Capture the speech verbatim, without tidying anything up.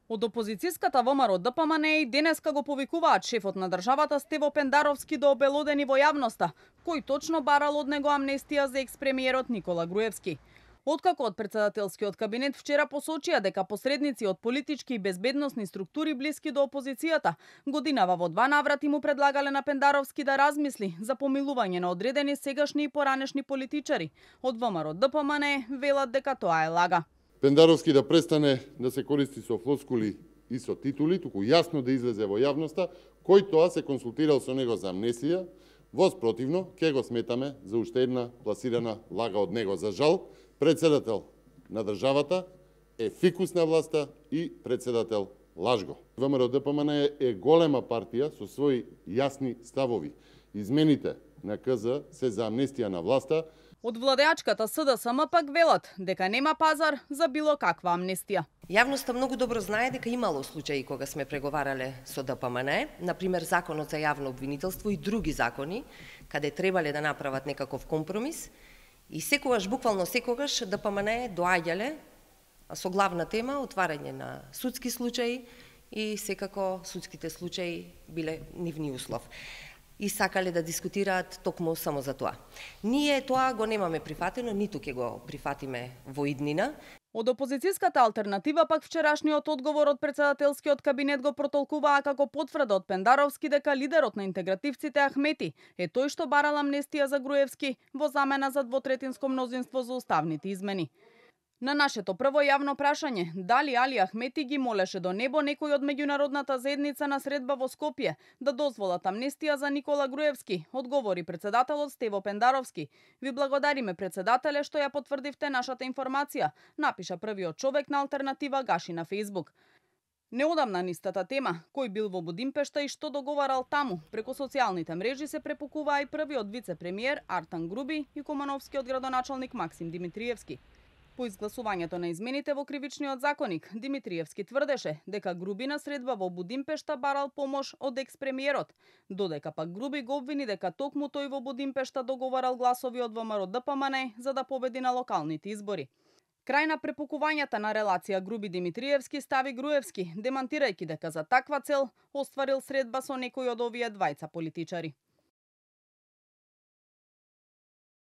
Од опозицијската ВМРО Д П М Н и денеска го повикуваат шефот на државата Стево Пендаровски до обелодени во јавноста, кој точно барал од него амнестија за експремиерот Никола Груевски. Откако од председателскиот кабинет вчера посочија дека посредници од политички и безбедносни структури блиски до опозицијата, годинава во два наврати му предлагале на Пендаровски да размисли за помилување на одредени сегашни и поранешни политичари. Од В М R Д П М Н велат дека тоа е лага. Пендаровски да престане да се користи со флоскули и со титули, туку јасно да излезе во јавноста кој тоа се консултирал со него за амнестија. Воспротивно, ќе го сметаме за уште една пласирана лага од него. За жал, председател на државата е фикус на власта и председател лажго. В М R Д П М Н е голема партија со своји јасни ставови. Измените на К З се за амнестија на власта. Од владеачката С Д С М пак велат дека нема пазар за било каква амнестија. Јавноста многу добро знае дека имало случаи кога сме преговарале со Д П М Н, например Законот за јавно обвинителство и други закони, каде требале да направат некаков компромис, и секогаш, буквално секогаш, Д П М Н доаѓале со главна тема отварање на судски случаи и секако судските случаи биле нивни услов. И сакале да дискутираат токму само за тоа. Ние тоа го немаме прифатено, ниту ќе го прифатиме во иднина. Од опозицијската алтернатива пак вчерашниот одговор од председателскиот кабинет го протолкуваа како потврда од Пендаровски дека лидерот на интегративците Ахмети е тој што барал амнестија за Груевски во замена за двотретинско мнозинство за уставните измени. На нашето прво јавно прашање, дали Али Ахмети ги молеше до небо некој од меѓународната заедница на средба во Скопје да дозволат амнестија за Никола Груевски, одговори председателот Стево Пендаровски. Ви благодариме, председателе, што ја потврдивте нашата информација, напиша првиот човек на алтернатива Гаши на Фејсбук. Неодамна нистата тема, кој бил во Будимпешта и што договарал таму, преку социјалните мрежи се препукуваа и првиот вице-премиер Артан Груби и кумановскиот градоначалник Максим Димитриевски. По изгласувањето на измените во кривичниот законник, Димитриевски тврдеше дека Груби на средба во Будимпешта барал помош од екс-премиерот, додека пак Груби го обвини дека токму тој во Будимпешта договарал гласови од В М R Д П М Н за да победи на локалните избори. Крај на препукувањата на релација Груби-Димитриевски стави Груевски, демантирајќи дека за таква цел остварил средба со некој од овие двајца политичари.